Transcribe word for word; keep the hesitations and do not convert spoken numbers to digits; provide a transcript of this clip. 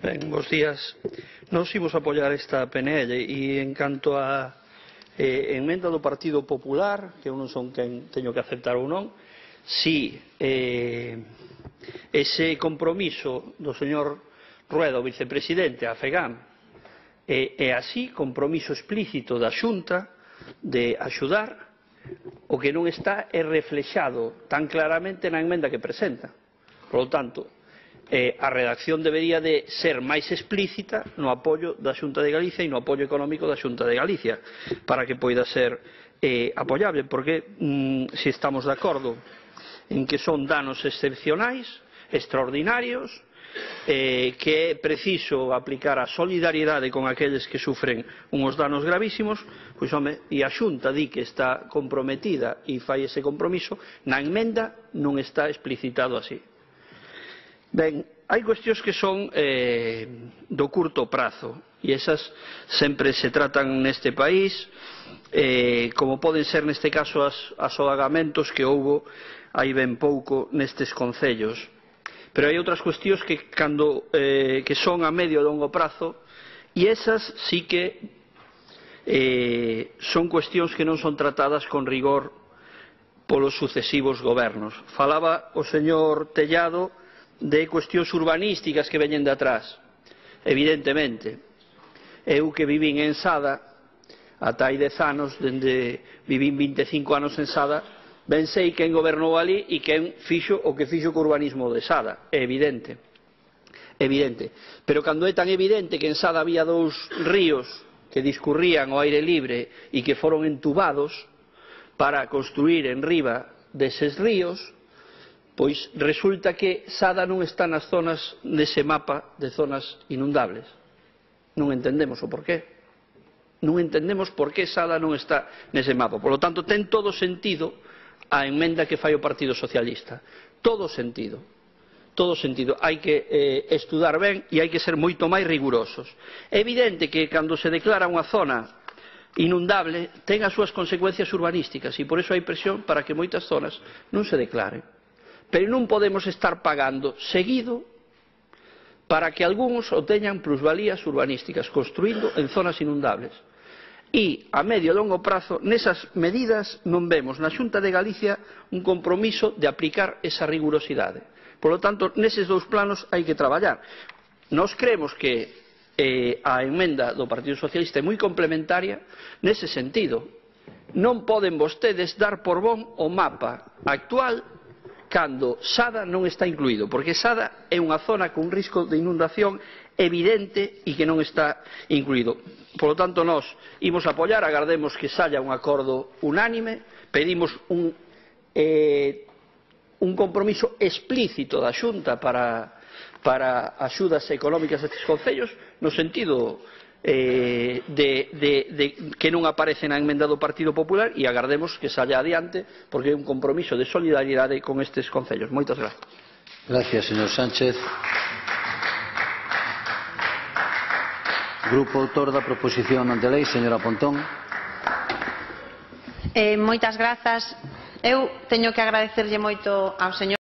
Ben, bos días. Nos imos apoiar esta P N L e en canto a eh, emenda do Partido Popular, que eu non son quen teño que aceptar ou non, si eh, ese compromiso do señor Rueda, o vicepresidente, a FEGAM, e, e así compromiso explícito da Xunta de axudar, o que non está é reflexado tan claramente na emenda que presenta. Por lo tanto, eh, a redacción debería de ser máis explícita no apoio da Xunta de Galicia e no apoio económico da Xunta de Galicia para que poida ser eh, apoiable, porque mm, se estamos de acordo en que son danos excepcionais, extraordinarios, eh, que é preciso aplicar a solidariedade con aqueles que sufren uns danos gravísimos, pois home, e a Xunta di que está comprometida e fai ese compromiso, na emenda non está explicitado así. Ben, hai cuestións que son eh, do curto prazo e esas sempre se tratan neste país, eh, como poden ser neste caso as asodagamentos que houbo hai ben pouco nestes concellos. Pero hai outras cuestións que, cando, eh, que son a medio e longo prazo e esas sí que eh, son cuestións que non son tratadas con rigor polos sucesivos gobernos. Falaba o señor Tellado de cuestións urbanísticas que veñen de atrás. Evidentemente, eu que vivín en Sada ata hai dez anos, dende vivín vinte e cinco anos en Sada, ben sei quen gobernou ali e quen fixo o que fixo co urbanismo de Sada. É evidente. Evidente. Pero cando é tan evidente que en Sada había dous ríos que discurrían ao aire libre e que foron entubados para construir en riba deses ríos, pois resulta que Sada non está nas zonas nese mapa de zonas inundables. Non entendemos o porqué. Non entendemos por que Sada non está nese mapa. Por lo tanto, ten todo sentido a emenda que fai o Partido Socialista. Todo sentido. Todo sentido. Hai que eh, estudar ben e hai que ser moito máis rigurosos. É evidente que cando se declara unha zona inundable ten as súas consecuencias urbanísticas e por iso hai presión para que moitas zonas non se declaren. Pero non podemos estar pagando seguido para que algúns obteñan plusvalías urbanísticas construindo en zonas inundables. E a medio e longo prazo, nesas medidas non vemos na Xunta de Galicia un compromiso de aplicar esa rigurosidade. Por lo tanto, neses dous planos hai que traballar. Nós creemos que eh, a emenda do Partido Socialista é moi complementaria nese sentido. Non poden vostedes dar por bon o mapa actual cando Sada non está incluído, porque Sada é unha zona con risco de inundación evidente e que non está incluído. Por lo tanto, nós imos apoiar, agardemos que saia un acordo unánime, pedimos un, eh, un compromiso explícito da Xunta para, para axudas económicas a estes concellos, no sentido Eh, de, de, de, que non aparece na emenda do Partido Popular e agardemos que saia adiante porque é un compromiso de solidariedade con estes concellos. Moitas gracias. Gracias, señor Sánchez. Grupo autor da proposición non de lei, señora Pontón. Eh, moitas grazas. Eu teño que agradecerlle moito ao señor